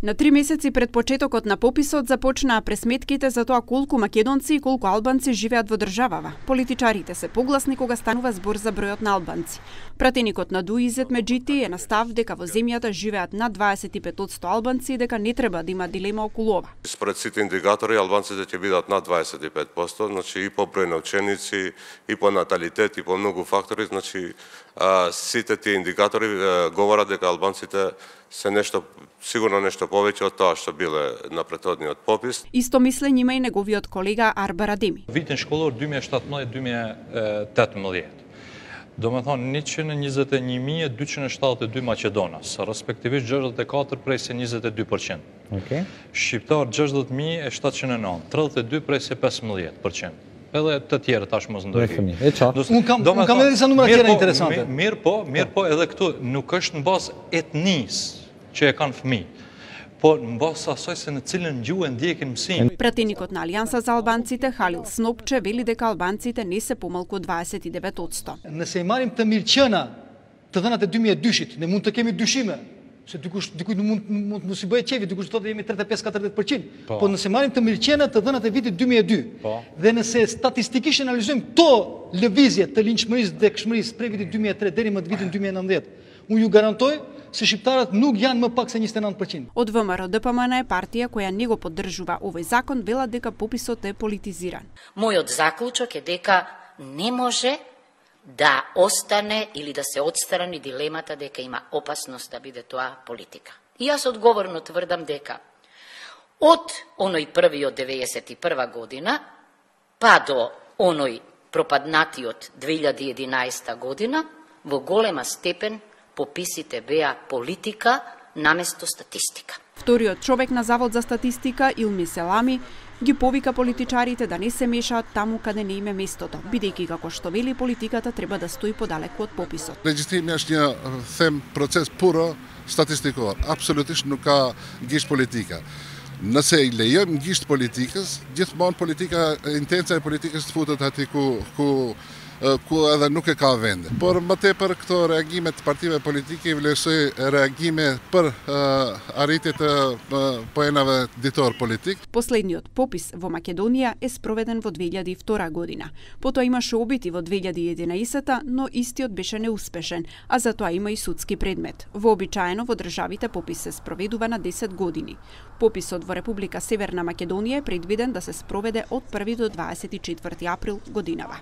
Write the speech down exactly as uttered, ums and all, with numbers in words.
На три месеци пред почетокот на пописот започнаа пресметките за тоа колку македонци и колку албанци живеат во државава. Политичарите се погласни кога станува збор за бројот на албанци. Пратеникот на ДУ Изет Меджити е на став дека во земјата живеат над дваесет и пет одсто албанци и дека не треба да има дилема околу ова. Според сите индикатори албанците ќе бидат над дваесет и пет одсто, значи и по број на ученици, и по наталитет, и по многу фактори, значи а, сите тие индикатори а, говорат дека албанците се нешто сигурно нешто повеќе од тоа што биле на претходниот попис. Исто мислење има и неговиот колега Арбар Адеми. Витин школор две тисячи и седемнаесет до две тисячи и тетнаесет. Do me thonë njëqind e njëzet e një mijë e dyqind e shtatëdhjetë e dy Maqedonas, respektivisht gjashtëdhjetë e katër prej se njëzet e dy përqind. Okay. Shqiptar gjashtëdhjetë mijë e shtatëqind e nëntë, tridhjetë e dy prej se pesëmbëdhjetë përqind. Edhe të tjerë tash mos ndërhyjmë. Unë kam unë kam edhe disa numra tjera interesante. Mirë po, mirë po, edhe këtu nuk është në bazë etnisë që e kanë fëmijë, po në bazë asaj se në cilën gjuhë ndjekin mësimin. Пратеникот на Алијанса за албанците Халил Снопче вели дека албанците не се помалку од дваесет и девет одсто. Nëse i marrim të mirëqena të dhënat e dy mijë e dyshit, ne mund të kemi dyshime, se dikush dikujt mund mund mos i bëhet qefi, dikush thotë jemi tridhjetë e pesë katërdhjetë përqind. Po, po nëse marrim të mirëqena të dhënat e vitit dy mijë e dy, po, dhe nëse statistikisht analizojmë këto lëvizje të linçmërisë dhe këshmërisë prej vitit dy mijë e tre deri më në vitin dy mijë e nëntëdhjetë, unë ju garantoj se shqiptarët nuk janë më pak se njëzet e nëntë përqind. Од ВМРО Д П М Н е партија која не го поддржува овој закон, велат дека пописот е политизиран. Мојот заклучок е дека не може да остане или да се отстрани дилемата дека има опасност да биде тоа политика. И јас одговорно тврдам дека од оној првиот деветдесет и прва година па до оној пропаднатиот две илјади и единаесета година во голема степен пописите беа политика наместо статистика. Вториот човек на Завод за статистика, Илми Селами, ги повика политичарите да не се мешаат таму каде не им е местото, бидејќи како што вели политиката треба да стои подалеку од пописот. Legjitimi është një them proces puro statistikor, absolutisht nuk ka gisht politika. Nëse i lejojmë gisht politikës, gjithmonë politika intenca e politikës të futet aty ku ku ku edhe nuk e ka vende. Por më tepër këto reagime të partive politike i vlerësoj reagime për uh, arritje të uh, poenave ditore politik. Последниот попис во Македонија е спроведен во две илјади и втора година. Потоа имаше обити во две илјади и единаесета, но истиот беше неуспешен, а за тоа има и судски предмет. Вообичаено во државите попис се спроведува на десет години. Пописот во Република Северна Македонија е предвиден да се спроведе од први до дваесет и четврти април годинава.